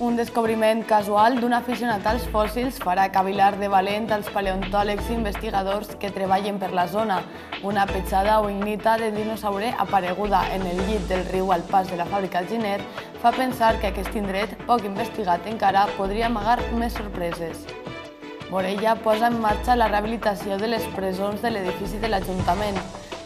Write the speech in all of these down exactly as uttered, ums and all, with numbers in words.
Un descobriment casual d'un aficionat als fòssils farà cavilar de valent als paleontòlegs i investigadors que treballen per la zona. Una petjada o ignita de dinosaure apareguda en el llit del riu al pas de la fàbrica Giner fa pensar que aquest indret, poc investigat encara, podria amagar més sorpreses. Morella posa en marxa la rehabilitació de les presons de l'edifici de l'Ajuntament.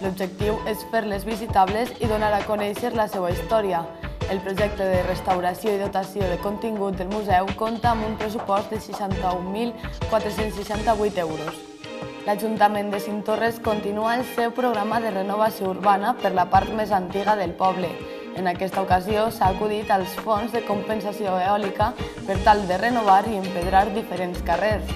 L'objectiu és fer-les visitables i donar a conèixer la seva història. El projecte de restauració i dotació de contingut del museu compta amb un pressupost de seixanta-un mil quatre-cents seixanta-vuit euros. L'Ajuntament de Cinctorres continua el seu programa de renovació urbana per la part més antiga del poble. En aquesta ocasió s'ha acudit als fons de compensació eòlica per tal de renovar i empedrar diferents carrers.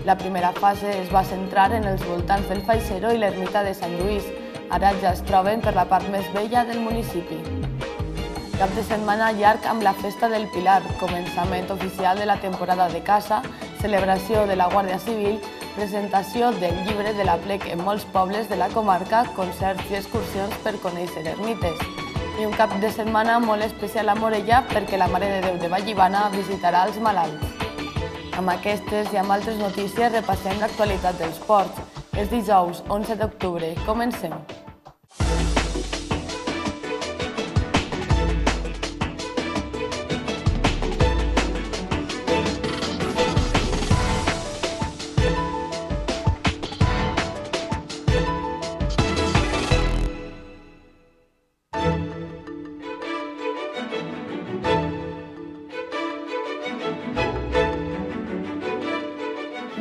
La primera fase es va centrar en els voltants del Faixero i l'ermita de Sant Lluís. Ara ja es troben per la part més vella del municipi. Cap de setmana llarg amb la Festa del Pilar, començament oficial de la temporada de caça, celebració de la Guàrdia Civil, presentació del llibre de l'aplec en molts pobles de la comarca, concerts i excursions per conèixer ermites. I un cap de setmana molt especial a Morella perquè la Mare de Déu de Vallivana visitarà els malalts. Amb aquestes i amb altres notícies repassem l'actualitat dels ports. És dijous, onze d'octubre. Comencem.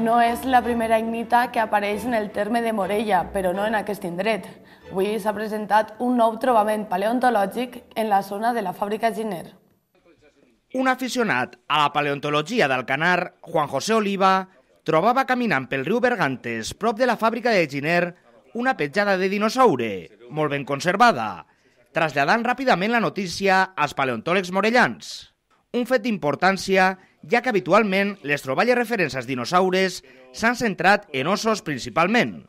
No és la primera ignita que apareix en el terme de Morella, però no en aquest indret. Avui s'ha presentat un nou trobament paleontològic en la zona de la fàbrica Giner. Un aficionat a la paleontologia d'Alcanar, Juan José Oliva, trobava caminant pel riu Bergantes, prop de la fàbrica de Giner, una petjada de dinosaure, molt ben conservada, traslladant ràpidament la notícia als paleontòlegs morellans. Un fet d'importància, ja que habitualment les troballes referents als dinosaures s'han centrat en ossos principalment.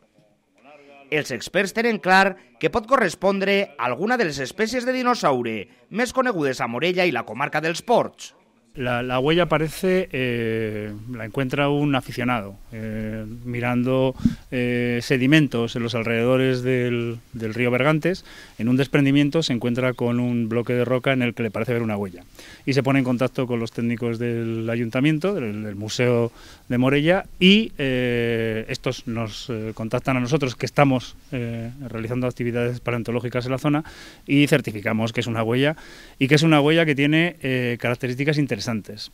Els experts tenen clar que pot correspondre a alguna de les espècies de dinosaure més conegudes a Morella i la comarca dels Ports. La, la huella parece, eh, la encuentra un aficionado, eh, mirando eh, sedimentos en los alrededores del, del río Bergantes. En un desprendimiento se encuentra con un bloque de roca en el que le parece ver una huella. Y se pone en contacto con los técnicos del ayuntamiento, del, del Museo de Morella, y eh, estos nos eh, contactan a nosotros que estamos eh, realizando actividades paleontológicas en la zona y certificamos que es una huella y que es una huella que tiene eh, características interesantes.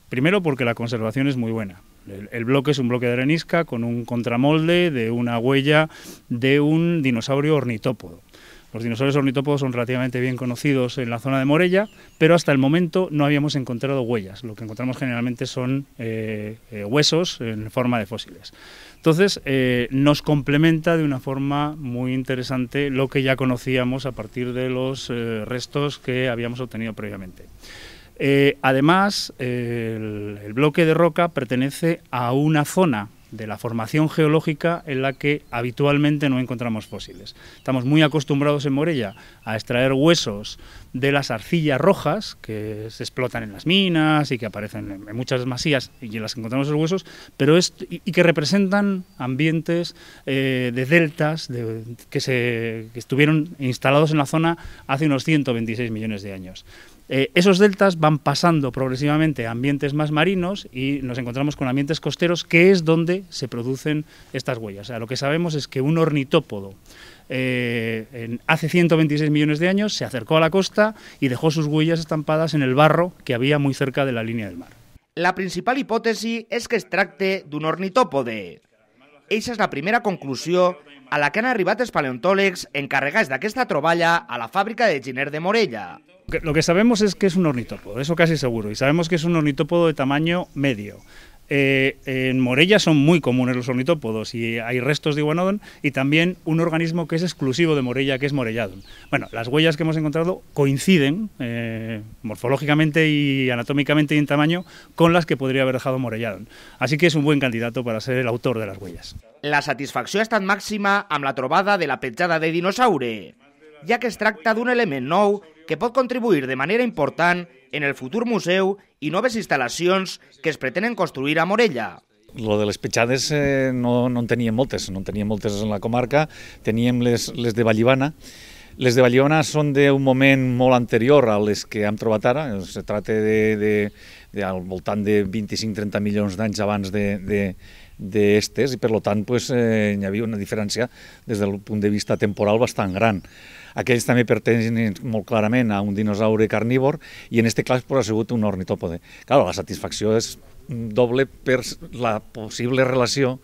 Primero porque la conservación es muy buena. El, el bloque es un bloque de arenisca con un contramolde de una huella de un dinosaurio ornitópodo. Los dinosaurios ornitópodos son relativamente bien conocidos en la zona de Morella, pero hasta el momento no habíamos encontrado huellas. Lo que encontramos generalmente son eh, eh, huesos en forma de fósiles. Entonces, eh, nos complementa de una forma muy interesante lo que ya conocíamos a partir de los eh, restos que habíamos obtenido previamente. Eh, además, eh, el, el bloque de roca pertenece a una zona de la formación geológica en la que habitualmente no encontramos fósiles. Estamos muy acostumbrados en Morella a extraer huesos de las arcillas rojas que se explotan en las minas y que aparecen en muchas masías y en las que encontramos esos huesos, pero es, y, y que representan ambientes eh, de deltas de, que, se, que estuvieron instalados en la zona hace unos ciento veintiséis millones de años. Eh, esos deltas van pasando progresivamente a ambientes más marinos y nos encontramos con ambientes costeros, que es donde se producen estas huellas. O sea, lo que sabemos es que un ornitópodo eh, en, hace ciento veintiséis millones de años se acercó a la costa y dejó sus huellas estampadas en el barro que había muy cerca de la línea del mar. La principal hipòtesi és que es tracte d'un ornitòpode. Eixa és la primera conclusió a la que han arribat els paleontòlegs encarregats d'aquesta troballa a la fàbrica de Giner de Morella. Lo que sabemos es que es un ornitópodo, eso casi seguro, y sabemos que es un ornitópodo de tamaño medio. Eh, en Morella son muy comunes los ornitópodos y hay restos de iguanodon y también un organismo que es exclusivo de Morella, que es Morelladon. Bueno, las huellas que hemos encontrado coinciden eh, morfológicamente y anatómicamente y en tamaño con las que podría haber dejado Morelladon. Así que es un buen candidato para ser el autor de las huellas. La satisfacció ha estat màxima amb la trobada de la petjada de dinosaure, ja que es tracta d'un element nou que pot contribuir de manera important en el futur museu i noves instal·lacions que es pretenen construir a Morella. Lo de les petjades eh, no, no en teníem moltes, no en teníem moltes en la comarca, teníem les, les de Vallivana. Les de Vallivana són d'un moment molt anterior a les que hem trobat ara, es tracta de, de, de al voltant de vint-i-cinc a trenta milions d'anys abans de, de, d'estes i per tant pues, eh, hi havia una diferència des del punt de vista temporal bastant gran. Aquells també pertanyen molt clarament a un dinosaure carnívor i en aquest cas pues, ha sigut un ornitòpode. Clar, la satisfacció és doble per la possible relació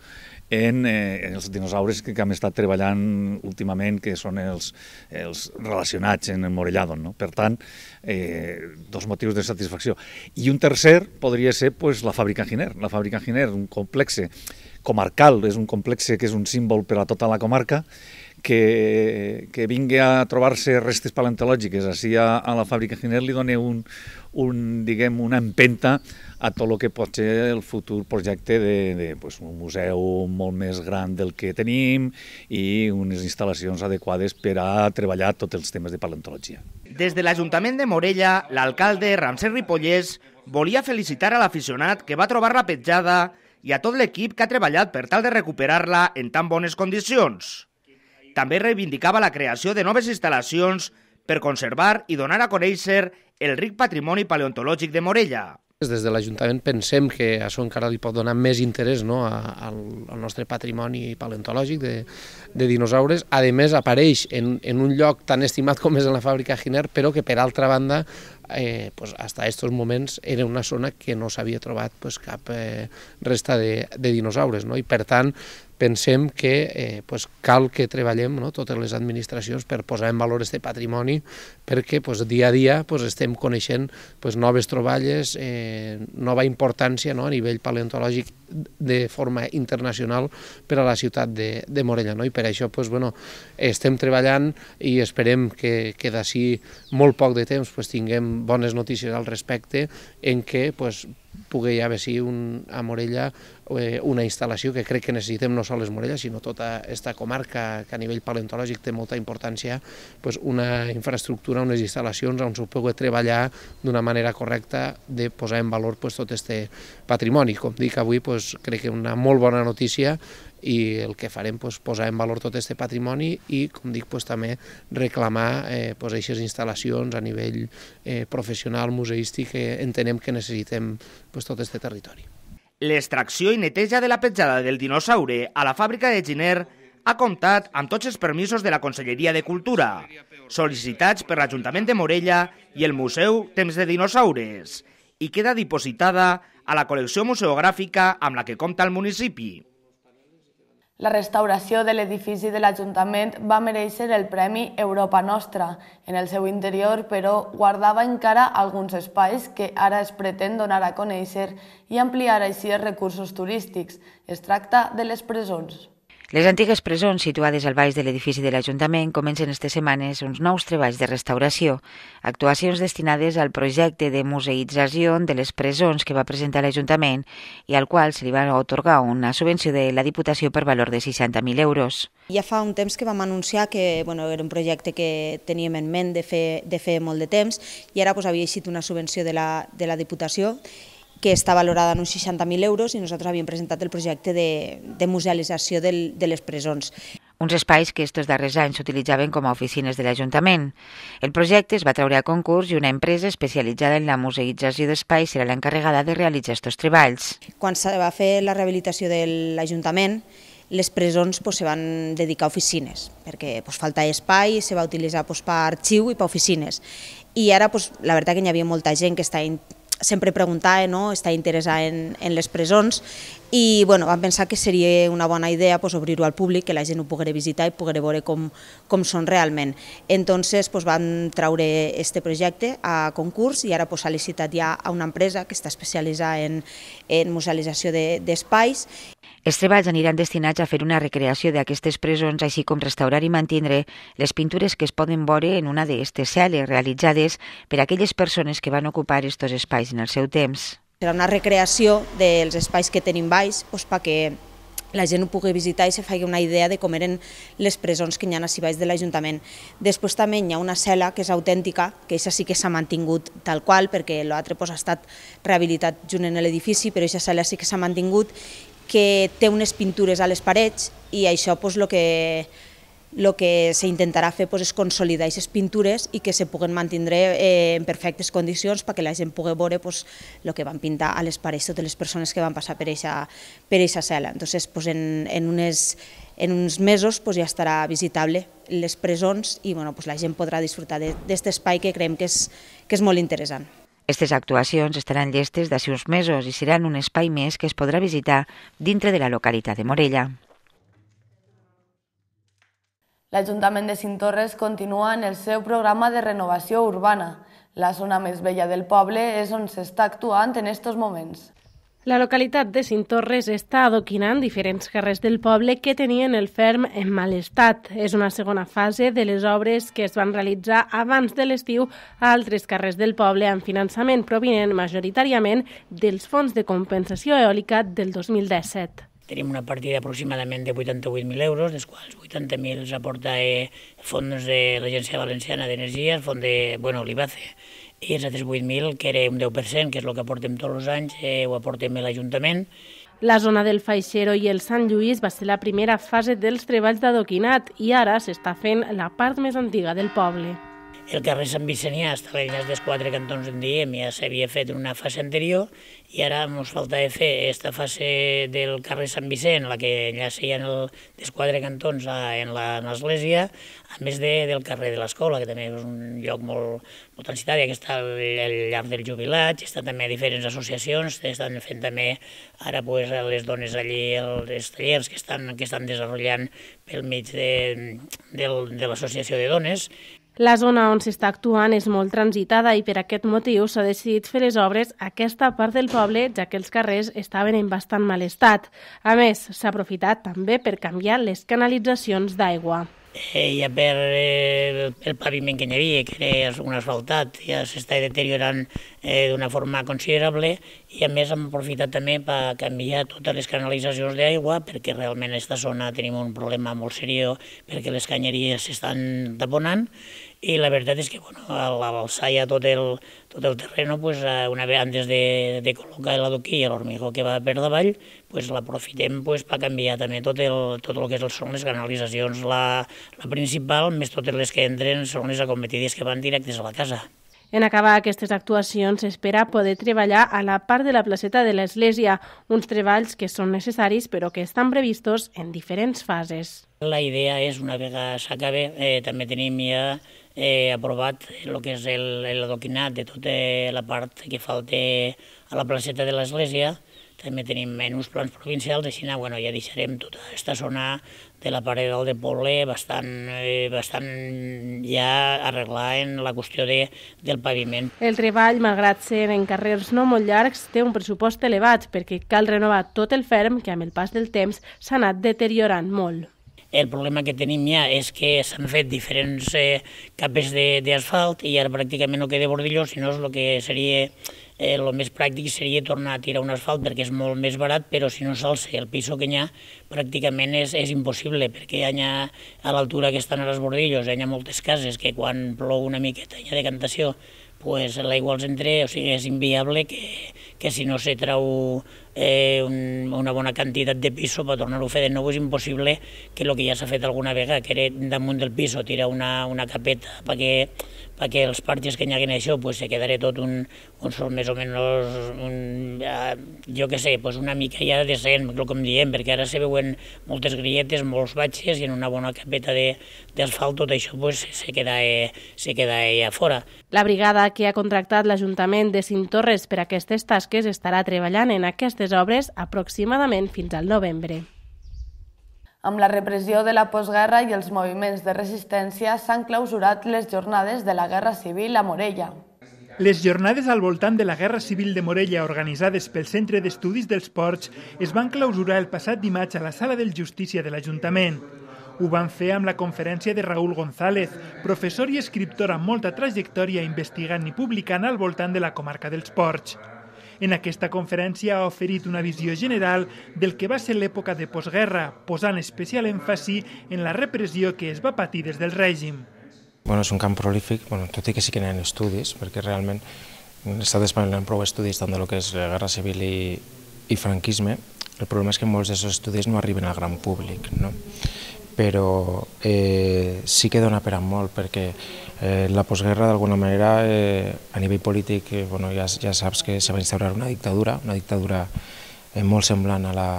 en eh, els dinosaures que, que hem estat treballant últimament, que són els, els relacionats en el Morellado. No? Per tant, eh, dos motius de satisfacció. I un tercer podria ser pues, la fàbrica Giner. La fàbrica Giner, un complex comarcal, és un complex que és un símbol per a tota la comarca, que, que vingui a trobar-se restes paleontològiques així a, a la fàbrica Giner li dona un, un, diguem, una empenta a tot el que pot ser el futur projecte de, de pues, un museu molt més gran del que tenim i unes instal·lacions adequades per a treballar tots els temes de paleontologia. Des de l'Ajuntament de Morella, l'alcalde Ramsès Ripollès volia felicitar a l'aficionat que va trobar la petjada i a tot l'equip que ha treballat per tal de recuperar-la en tan bones condicions. També reivindicava la creació de noves instal·lacions per conservar i donar a conèixer el ric patrimoni paleontològic de Morella. Des de l'Ajuntament pensem que això encara li pot donar més interès no, al, al nostre patrimoni paleontològic de, de dinosaures. A més, apareix en, en un lloc tan estimat com és en la fàbrica Giner, però que per altra banda, eh, pues, hasta estos moments era una zona que no s'havia trobat pues, cap eh, resta de, de dinosaures. No? I per tant, pensem que eh, pues, cal que treballem no, totes les administracions per posar en valor aquest patrimoni perquè pues, dia a dia pues, estem coneixent pues, noves troballes, eh, nova importància no, a nivell paleontològic de forma internacional per a la ciutat de, de Morella. No? I per això pues, bueno, estem treballant i esperem que, que d'ací molt poc de temps pues, tinguem bones notícies al respecte en què pues, pugui haver sí, un, a Morella eh, una instal·lació que crec que necessitem no sols Morella, sinó tota aquesta comarca que a nivell paleontològic té molta importància, pues, una infraestructura, unes instal·lacions on s'ho pugui treballar d'una manera correcta de posar en valor pues, tot aquest patrimoni. Com dic, avui pues, crec que una molt bona notícia i el que farem és pues, posar en valor tot aquest patrimoni i, com dic, pues, també reclamar eh, pues, aquestes instal·lacions a nivell eh, professional, museístic, que entenem que necessitem pues, tot aquest territori. L'extracció i neteja de la petjada del dinosaure a la fàbrica de Giner ha comptat amb tots els permisos de la Conselleria de Cultura, sol·licitats per l'Ajuntament de Morella i el Museu Temps de Dinosaures, i queda dipositada a la col·lecció museogràfica amb la que compta el municipi. La restauració de l'edifici de l'Ajuntament va merèixer el Premi Europa Nostra. En el seu interior, però, guardava encara alguns espais que ara es pretén donar a conèixer i ampliar així els recursos turístics. Es tracta de les presons. Les antigues presons situades al baix de l'edifici de l'Ajuntament comencen aquestes setmanes uns nous treballs de restauració, actuacions destinades al projecte de museïtzació de les presons que va presentar l'Ajuntament i al qual se li va atorgar una subvenció de la Diputació per valor de seixanta mil euros. Ja fa un temps que vam anunciar que bueno, era un projecte que teníem en ment de fer, de fer molt de temps i ara pues, havia eixit una subvenció de la, de la Diputació que està valorada en uns seixanta mil euros i nosaltres havíem presentat el projecte de, de musealització del, de les presons. Uns espais que estos darrers anys s'utilitzaven com a oficines de l'Ajuntament. El projecte es va treure a concurs i una empresa especialitzada en la museïtzació d'espais serà l'encarregada de realitzar aquests treballs. Quan se va fer la rehabilitació de l'Ajuntament, les presons pues, se van dedicar a oficines, perquè pues, falta espai, se va utilitzar pues, per arxiu i per oficines. I ara pues, la veritat que hi havia molta gent que està sempre preguntava, no? Està interessada en, en les presons i bueno, vam pensar que seria una bona idea pues, obrir-ho al públic, que la gent ho pogués visitar i pogués veure com, com són realment. Entonces pues, vam treure este projecte a concurs i ara s'ha pues, licitat ja a una empresa que està especialitzada en, en musealització d'espais. De, Els treballs aniran destinats a fer una recreació d'aquestes presons, així com restaurar i mantindre les pintures que es poden veure en una d'aquestes cel·les realitzades per aquelles persones que van ocupar aquests espais en el seu temps. Serà una recreació dels espais que tenim baix doncs, perquè la gent ho pugui visitar i se faci una idea de com eren les presons que hi ha a baix de l'Ajuntament. Després també hi ha una cel·la que és autèntica, que aquesta sí que s'ha mantingut tal qual, perquè l'altre ha estat rehabilitat junt en l'edifici, però aquesta cel·la sí que s'ha mantingut, que té unes pintures a les parets i això el que el que s'intentarà fer és consolidar aquestes pintures i que se puguen mantenir en perfectes condicions perquè la gent pugui veure el que van pintar a les parets totes les persones que van passar per aquesta cel·la. Entonces, en uns mesos ja estarà visitable les presons i la gent podrà disfrutar d'aquest espai que creiem que és molt interessant. Aquestes actuacions estaran llestes d'ací uns mesos i seran un espai més que es podrà visitar dintre de la localitat de Morella. L'Ajuntament de Cinctorres continua en el seu programa de renovació urbana. La zona més vella del poble és on s'està actuant en aquests moments. La localitat de Cinctorres està adoquinant diferents carrers del poble que tenien el ferm en mal estat. És una segona fase de les obres que es van realitzar abans de l'estiu a altres carrers del poble amb finançament provinent majoritàriament dels fons de compensació eòlica del dos mil disset. Tenim una partida aproximadament de vuitanta-vuit mil euros, dels quals vuitanta mil s'aporta el fons de l'Agència Valenciana d'Energia, el fons de, bueno, l'I B A C E, i els altres vuit mil, que era un deu per cent, que és el que aportem tots els anys, eh, ho aportem a l'Ajuntament. La zona del Faixero i el Sant Lluís va ser la primera fase dels treballs d'adoquinat i ara s'està fent la part més antiga del poble. El carrer Sant Vicenià està a l'enllaç dels quatre cantons en diem, ja s'havia fet en una fase anterior i ara ens falta fer aquesta fase del carrer Sant Vicent, la que enllaça ja dels quatre cantons en l'església, a més de, del carrer de l'escola, que també és un lloc molt, molt transitat, que està al llarg del jubilat, està també a diferents associacions, estan fent també ara pues, les dones allí, els tallers que estan, que estan desenvolupant pel mig de, de, de l'associació de dones. La zona on s'està actuant és molt transitada i per aquest motiu s'ha decidit fer les obres a aquesta part del poble, ja que els carrers estaven en bastant mal estat. A més, s'ha aprofitat també per canviar les canalitzacions d'aigua. Eh, ja per eh, el paviment que hi havia, que era un asfaltat, ja s'està deteriorant eh, d'una forma considerable i a més hem aprofitat també per canviar totes les canalitzacions d'aigua perquè realment a aquesta zona tenim un problema molt seriós perquè les canyeries s'estan taponant i la veritat és que bueno, al alçar ja tot el, tot el terreno, pues, una vegada antes de, de col·locar l'adoquí i l'hormigó que va per davall, pues, l'aprofitem pues, per canviar també tot el, tot el que són les canalitzacions. La, la principal, més totes les que entren, són les acometides que van directes a la casa. En acabar aquestes actuacions s'espera poder treballar a la part de la placeta de l'Església, uns treballs que són necessaris però que estan previstos en diferents fases. La idea és, una vegada s'acabe, eh, també tenim ja eh, aprovat el que és l'adoquinat de tota la part que falta a la placeta de l'Església. També tenim en uns plans provincials, així bueno, ja deixarem tota aquesta zona de la paret del poble bastant, eh, bastant ja arreglar en la qüestió de, del paviment. El treball, malgrat ser en carrers no molt llargs, té un pressupost elevat perquè cal renovar tot el ferm que amb el pas del temps s'ha anat deteriorant molt. El problema que tenim ja és que s'han fet diferents eh, capes d'asfalt i ara pràcticament no queda bordilló, sinó el que seria eh, el més pràctic seria tornar a tirar un asfalt perquè és molt més barat, però si no s'alça el piso que hi ha, pràcticament és, és impossible, perquè hi ha a l'altura que estan els bordillos, hi ha moltes cases que quan plou una miqueta hi ha decantació, pues l'aigua els entra, o sigui, és inviable que, que si no se trau eh, un, una bona quantitat de piso per tornar-ho a fer de nou és impossible que el que ja s'ha fet alguna vegada, que era damunt del piso tirar una, una capeta perquè, perquè els parges que hi hagin això pues, se quedarà tot un, un sol més o menys, un, jo què sé, pues una mica ja decent, com diem, perquè ara se veuen moltes grilletes, molts batxes i en una bona capeta d'asfalt tot això pues, se queda, eh, se queda eh, a fora. La brigada que ha contractat l'Ajuntament de Cinctorres per a aquestes tasques estarà treballant en aquestes obres aproximadament fins al novembre. Amb la repressió de la postguerra i els moviments de resistència s'han clausurat les jornades de la Guerra Civil a Morella. Les jornades al voltant de la Guerra Civil de Morella organitzades pel Centre d'Estudis dels Ports es van clausurar el passat dimarts a la Sala de Justícia de l'Ajuntament. Ho van fer amb la conferència de Raúl González, professor i escriptor amb molta trajectòria investigant i publicant al voltant de la comarca dels Ports. En aquesta conferència ha oferit una visió general del que va ser l'època de postguerra, posant especial èmfasi en la repressió que es va patir des del règim. Bueno, és un camp prolífic, bueno, tot i que sí que n'hi ha estudis, perquè realment l'estat espanyol n'hi ha prou estudis tant de lo que és la guerra civil i, i franquisme. El problema és que molts d'aquests estudis no arriben al gran públic, no? Però eh, sí que dona per a molt, perquè eh, la postguerra d'alguna manera eh, a nivell polític eh, bueno, ja, ja saps que se va instaurar una dictadura, una dictadura eh, molt semblant a, la,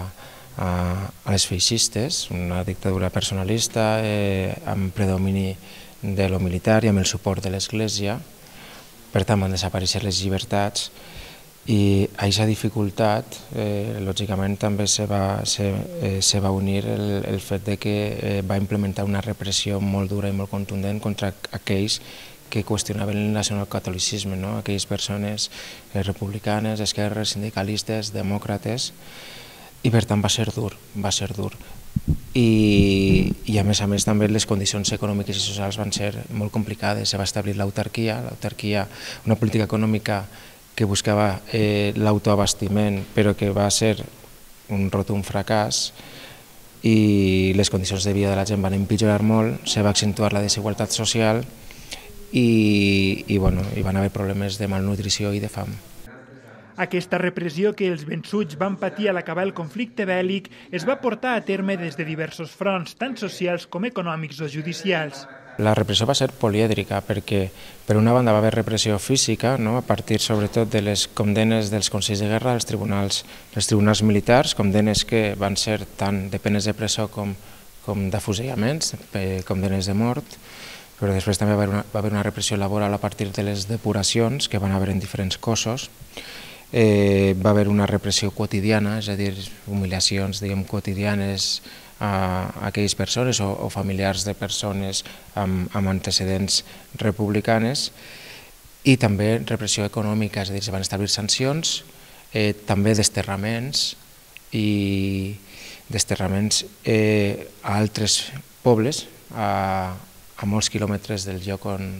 a, a les feixistes, una dictadura personalista eh, amb predomini de lo militar i amb el suport de l'Església. Per tant, van desaparèixer les llibertats i a aquesta dificultat, eh, lògicament, també se va, se, eh, se va unir el, el fet de que eh, va implementar una repressió molt dura i molt contundent contra aquells que qüestionaven el nacionalcatolicisme, no? Aquelles persones eh, republicanes, esquerres, sindicalistes, demòcrates, i per tant va ser dur, va ser dur. I, i a més a més també les condicions econòmiques i socials van ser molt complicades. Se va establir l'autarquia, l'autarquia, una política econòmica que buscava eh, l'autoabastiment, però que va ser un rotund fracàs, i les condicions de vida de la gent van empitjorar molt, se va accentuar la desigualtat social i, i, bueno, hi van haver problemes de malnutrició i de fam. Aquesta repressió que els vençuts van patir a l'acabar el conflicte bèl·lic es va portar a terme des de diversos fronts, tant socials com econòmics o judicials. La repressió va ser polièdrica perquè, per una banda, va haver repressió física, no? A partir sobretot de les condemnes dels consells de guerra, dels tribunals, dels tribunals militars, condemnes que van ser tant de penes de presó com, com d'afusellaments, condemnes de mort, però després també va haver, una, va haver una repressió laboral a partir de les depuracions que van haver en diferents cossos. Eh, va haver una repressió quotidiana, és a dir, humiliacions diguem, quotidianes a aquelles persones o, o familiars de persones amb, amb antecedents republicanes, i també repressió econòmica, és a dir, se van establir sancions, eh, també desterraments i desterraments eh, a altres pobles, a, a molts quilòmetres del lloc on,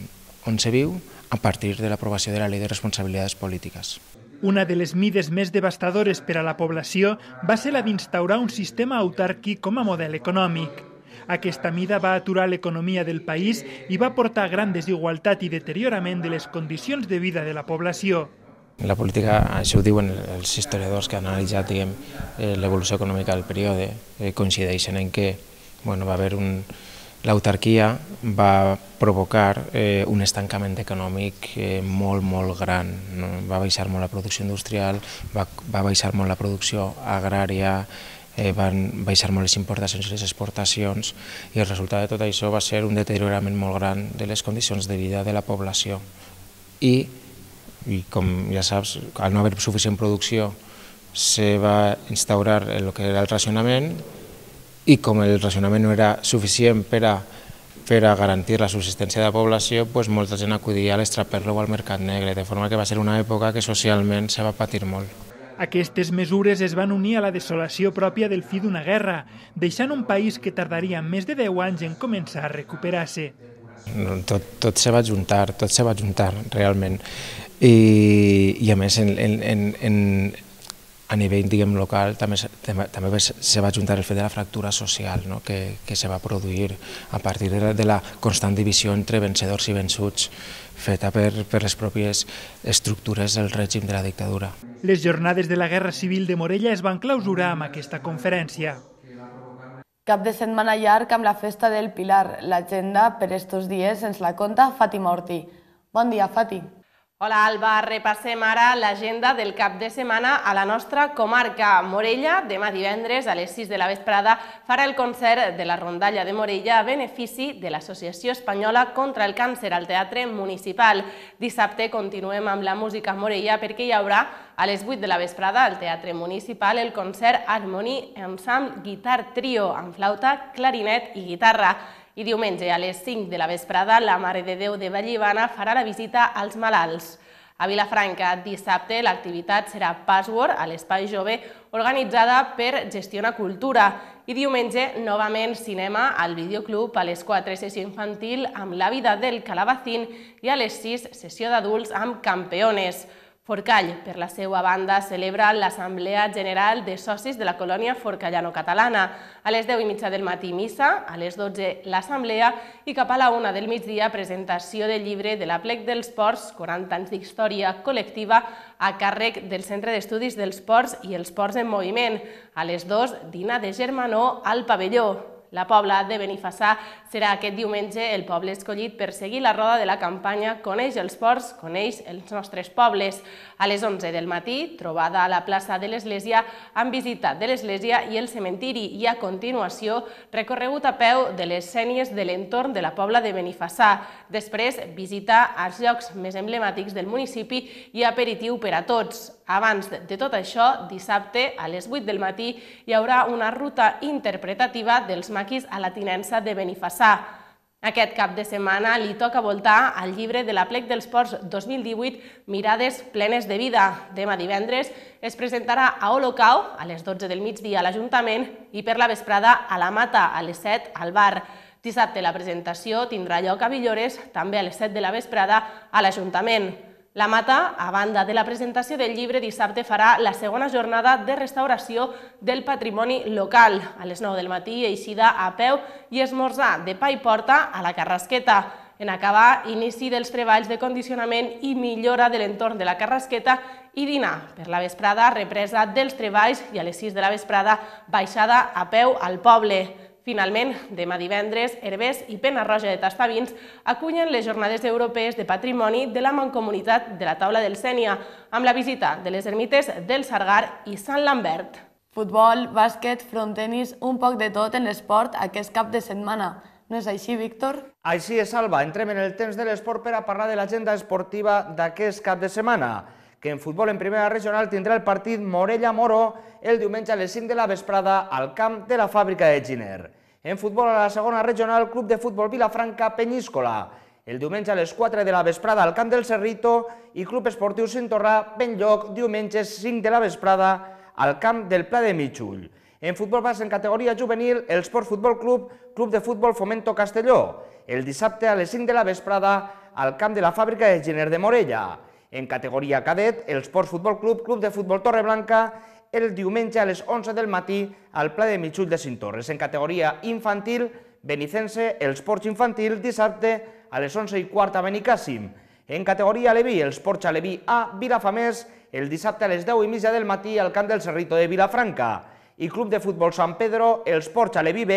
on se viu, a partir de l'aprovació de la Llei de Responsabilitats Polítiques. Una de les mides més devastadores per a la població va ser la d'instaurar un sistema autàrquic com a model econòmic. Aquesta mida va aturar l'economia del país i va portar gran desigualtat i deteriorament de les condicions de vida de la població. La política, això ho diuen els historiadors que han analitzat diguem, l'evolució econòmica del període, eh, coincideixen en que bueno, va haver un... L'autarquia va provocar eh, un estancament econòmic eh, molt, molt gran. No? Va baixar molt la producció industrial, va, va baixar molt la producció agrària, eh, van baixar molt les importacions i les exportacions, i el resultat de tot això va ser un deteriorament molt gran de les condicions de vida de la població. I, i com ja saps, al no haver suficient producció, se va instaurar el que era el racionament, i com el racionament no era suficient per a, per a garantir la subsistència de la població, doncs molta gent acudia a l'extraperlo o al mercat negre, de forma que va ser una època que socialment se va patir molt. Aquestes mesures es van unir a la desolació pròpia del fi d'una guerra, deixant un país que tardaria més de deu anys en començar a recuperar-se. Tot, tot se va juntar, tot se va juntar realment. I, i a més, en, en, en, en a nivell diguem, local també, també se va juntar el fet de la fractura social, no? que, que se va produir a partir de la, de la constant divisió entre vencedors i vençuts feta per, per les pròpies estructures del règim de la dictadura. Les jornades de la Guerra Civil de Morella es van clausurar amb aquesta conferència. Cap de setmana llarg amb la festa del Pilar. L'agenda per estos dies ens la conta Fàtima Ortí. Bon dia, Fati. Hola, Alba. Repassem ara l'agenda del cap de setmana a la nostra comarca. Morella, demà divendres a les sis de la vesprada, farà el concert de la Rondalla de Morella a benefici de l'Associació Espanyola contra el Càncer al Teatre Municipal. Dissabte continuem amb la música a Morella perquè hi haurà a les vuit de la vesprada al Teatre Municipal el concert Harmony Ensemble Guitar Trio amb flauta, clarinet i guitarra. I diumenge a les cinc de la vesprada la Mare de Déu de Vallivana farà la visita als malalts. A Vilafranca, dissabte, l'activitat serà Password a l'Espai Jove, organitzada per Gestiona Cultura. I diumenge, novament, cinema al Videoclub a les quatre, sessió infantil amb La vida del Calabacín, i a les sis, sessió d'adults amb Campeones. Forcall, per la seva banda, celebra l'Assemblea General de Socis de la Colònia Forcallano-Catalana. A les deu i mitja del matí missa, a les dotze l'assemblea i cap a la una del migdia presentació del llibre de l'Aplec dels Ports, quaranta anys d'història col·lectiva a càrrec del Centre d'Estudis dels Ports i els Ports en Moviment. A les dues, dinar de germanor al pavelló. La Pobla de Benifassà serà aquest diumenge el poble escollit per seguir la roda de la campanya Coneix els ports, coneix els nostres pobles. A les onze del matí, trobada a la plaça de l'Església amb visita de l'Església i el cementiri i a continuació recorregut a peu de les sénies de l'entorn de la Pobla de Benifassà. Després, visita als llocs més emblemàtics del municipi i aperitiu per a tots. Abans de tot això, dissabte a les vuit del matí hi haurà una ruta interpretativa dels maquis a la tinença de Benifassà. Aquest cap de setmana li toca voltar al llibre de l'Aplec dels Ports dos mil divuit Mirades plenes de vida. Demà divendres es presentarà a Olocau a les dotze del migdia a l'Ajuntament i per la vesprada a la Mata a les set al bar. Dissabte la presentació tindrà lloc a Villores, també a les set de la vesprada a l'Ajuntament. La Mata, a banda de la presentació del llibre, dissabte farà la segona jornada de restauració del patrimoni local. A les nou del matí, eixida a peu i esmorzar de pa i porta a la Carrasqueta. En acabar, inici dels treballs de condicionament i millora de l'entorn de la Carrasqueta i dinar. Per la vesprada, represa dels treballs i a les sis de la vesprada, baixada a peu al poble. Finalment, demà divendres, Herbers i Pena-roja de Tastavins acullen les Jornades Europees de Patrimoni de la Mancomunitat de la Taula del Sénia, amb la visita de les ermites del Sargar i Sant Lambert. Futbol, bàsquet, frontenis, un poc de tot en l'esport aquest cap de setmana. No és així, Víctor? Així és, Alba. Entrem en el temps de l'esport per a parlar de l'agenda esportiva d'aquest cap de setmana, que en futbol en primera regional tindrà el partit Morella-Moró el diumenge a les cinc de la vesprada al camp de la fàbrica de Giner. En futbol a la segona regional, Club de Futbol Vilafranca-Penyíscola. El diumenge a les quatre de la vesprada al camp del Cerrito i Club Esportiu Cintorrà, Benlloc, diumenge cinc de la vesprada al camp del Pla de Mitxull. En futbol base en categoria juvenil, el Sport Futbol Club, Club de Futbol Fomento Castelló. El dissabte a les cinc de la vesprada al camp de la fàbrica de Giner de Morella. En categoria cadet, el Sport Futbol Club, Club de Futbol Torreblanca, el diumenge a les onze del matí al Pla de Mitxull de Cintorres. En categoria infantil, Benicense, el Sports Infantil, dissabte a les onze i quart a Benicàssim. En categoria Aleví, el Sports Aleví A, Vilafamés, el dissabte a les deu i mitja del matí al camp del Cerrito de Vilafranca. I Club de Futbol Sant Pedro, el Sports Aleví B,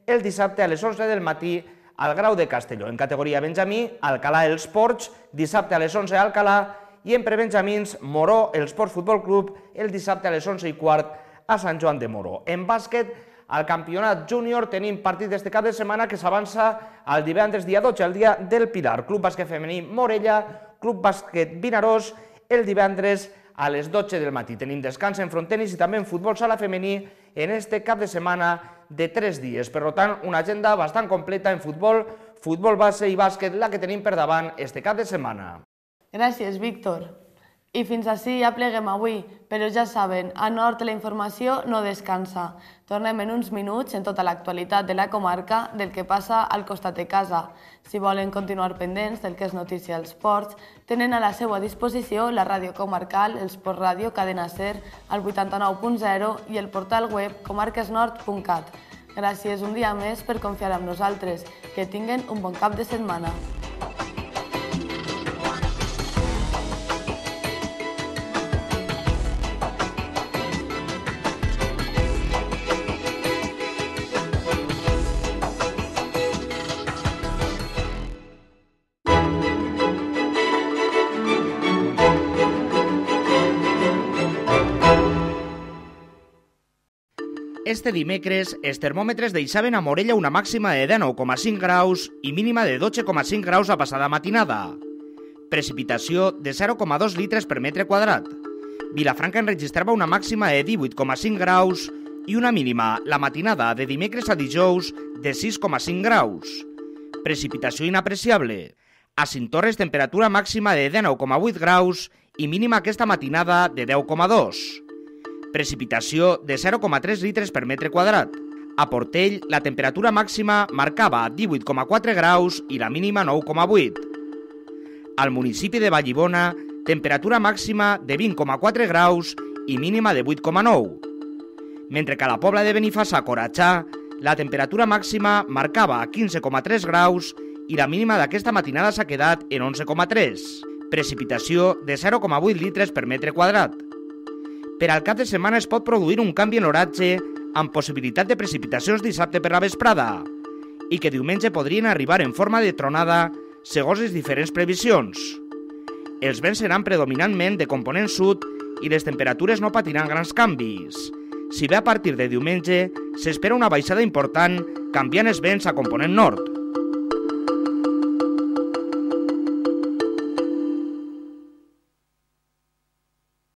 el dissabte a les onze del matí al Grau de Castelló. En categoria Benjamí, Alcalà els Ports, dissabte a les onze a Alcalà, i en prebenjamins, Moró, el Sports Futbol Club, el dissabte a les onze i quart a Sant Joan de Moró. En bàsquet, al campionat júnior tenim partit d'este cap de setmana que s'avança al divendres dia dotze, el dia del Pilar. Club Bàsquet Femení Morella, Club Bàsquet Vinaròs, el divendres a les dotze del matí. Tenim descans en frontenis i també en futbol sala femení en este cap de setmana de tres dies. Per tant, una agenda bastant completa en futbol, futbol base i bàsquet, la que tenim per davant este cap de setmana. Gràcies, Víctor. I fins ací ja pleguem avui, però ja saben, a Nord la informació no descansa. Tornem en uns minuts en tota l'actualitat de la comarca del que passa al costat de casa. Si volen continuar pendents del que és notícia als ports, tenen a la seva disposició la ràdio comarcal, el Sport Ràdio Cadena Ser, al vuitanta-nou punt zero i el portal web comarquesnord punt cat. Gràcies un dia més per confiar en nosaltres. Que tinguen un bon cap de setmana. Este dimecres, els termòmetres deixaven a Morella una màxima de dinou coma cinc graus i mínima de dotze coma cinc graus a passada matinada. Precipitació de zero coma dos litres per metre quadrat. Vilafranca enregistrava una màxima de divuit coma cinc graus i una mínima la matinada de dimecres a dijous de sis coma cinc graus. Precipitació inapreciable. A Cintorres, temperatura màxima de dinou coma vuit graus i mínima aquesta matinada de deu coma dos. Precipitació de zero coma tres litres per metre quadrat. A Portell, la temperatura màxima marcava divuit coma quatre graus i la mínima nou coma vuit. Al municipi de Vallibona, temperatura màxima de vint coma quatre graus i mínima de vuit coma nou. Mentre que a la Pobla de Benifassà, Coratxà, la temperatura màxima marcava quinze coma tres graus i la mínima d'aquesta matinada s'ha quedat en onze coma tres. Precipitació de zero coma vuit litres per metre quadrat. Per al cap de setmana es pot produir un canvi en l'oratge amb possibilitat de precipitacions dissabte per la vesprada i que diumenge podrien arribar en forma de tronada segons les diferents previsions. Els vents seran predominantment de component sud i les temperatures no patiran grans canvis. Si bé a partir de diumenge s'espera una baixada important canviant els vents a component nord.